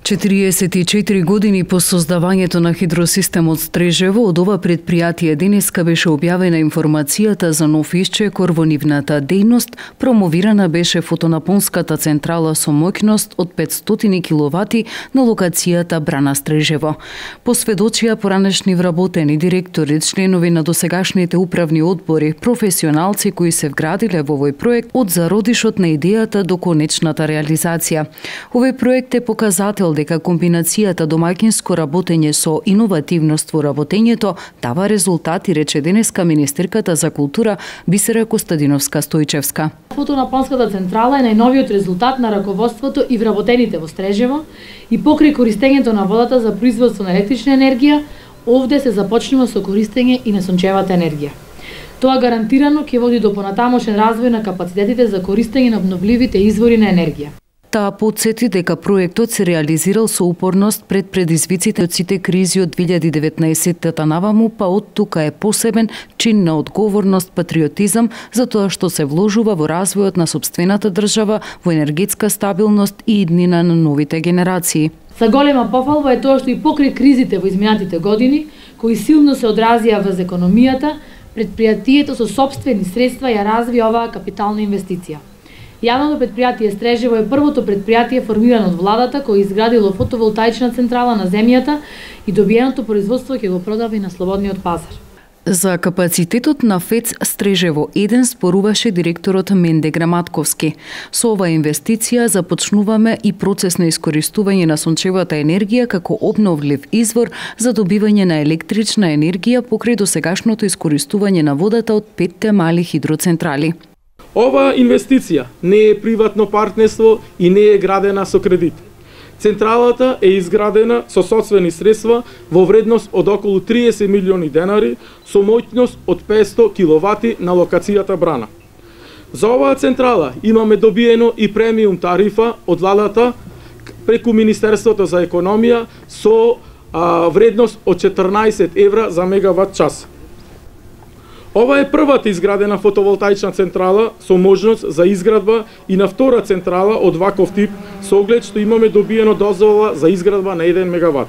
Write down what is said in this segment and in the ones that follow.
44 години по создавањето на хидросистемот Стрежево, од ова предпријатие денеска беше објавена информацијата за нов исчекор во нивната дејност. Промовирана беше фотонапонската централа со моќност од 500 киловати на локацијата Брана Стрежево. Посведочија поранешни вработени, директори, членови на досегашните управни одбори, професионалци кои се вградиле во овој проект од зародишот на идејата до конечната реализација. Овој проект е показател дека комбинацијата домаќинско работење со иновативност во работењето дава резултати, рече денеска министерката за култура Бисера Костадиновска-Стојчевска. Фотонапонската централа е најновиот резултат на раководството и вработените во Стрежево и покрај користењето на водата за производство на електрична енергија, овде се започнува со користење и на сончевата енергија. Тоа гарантирано ќе води до понатамошен развој на капацитетите за користење на обновливите извори на енергија. Таа потсети дека проектот се реализирал со упорност пред предизвиците од сите кризи од 2019-та наваму, па од тука е посебен чин на одговорност, патриотизам, за тоа што се вложува во развојот на сопствената држава, во енергетска стабилност и иднина на новите генерации. За голема пофалба е тоа што и покрај кризите во изминатите години, кои силно се одразија врз економијата, предпријатието со сопствени средства ја разви оваа капитална инвестиција. Јавното предпријатие Стрежево е првото предпријатие формирано од владата кој изградило фотоволтаична централа на земјата и добиеното производство ќе го продава и на слободниот пазар. За капацитетот на ФЕЦ Стрежево 1 споруваше директорот Менде Граматковски. Со оваа инвестиција започнуваме и процес на искористување на сончевата енергија како обновлив извор за добивање на електрична енергија покрај досегашното искористување на водата од 5 мали хидроцентрали. Оваа инвестиција не е приватно партнерство и не е градена со кредит. Централата е изградена со сопствени средства во вредност од околу 30 милиони денари со моќност од 500 киловати на локацијата Брана. За оваа централа имаме добиено и премиум тарифа од владата преку Министерството за економија со вредност од 14 евра за мегават час. Ова е првата изградена фотоволтаична централа со можност за изградба и на втора централа од ваков тип, со оглед што имаме добиено дозвола за изградба на 1 мегават.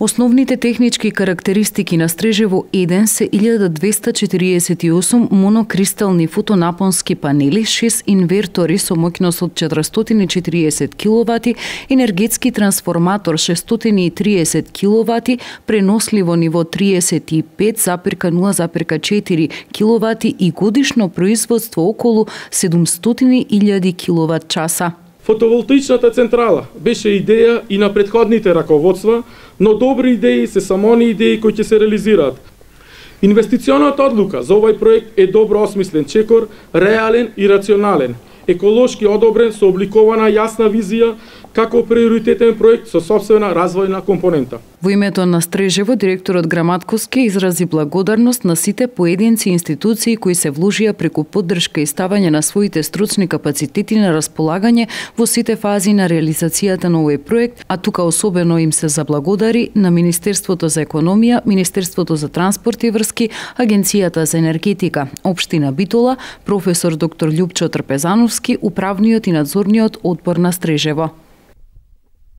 Основните технички карактеристики на Стрежево 1 се 1248 монокристални фотонапонски панели, 6 инвертори со моќност од 440 киловати, енергетски трансформатор 630 киловати, преносливо ниво 35,0,4 киловати и годишно производство околу 700.000 киловат часа. Фотоволтаичната централа беше идеја и на претходните раководства, но добри идеи се само они идеи кои ќе се реализираат. Инвестиционата одлука за овој проект е добро осмислен чекор, реален и рационален, еколошки одобрен со обликована јасна визија како приоритетен проект со сопствена развојна компонента. Во името на Стрежево, директорот Граматковски изрази благодарност на сите поединци и институции кои се вложија преку поддршка и ставање на своите стручни капацитети на располагање во сите фази на реализацијата на овој проект, а тука особено им се заблагодари на Министерството за економија, Министерството за транспорт и врски, Агенцијата за енергетика, Општина Битола, професор доктор Љупчо Трпезановски, управниот и надзорниот одбор на Стрежево.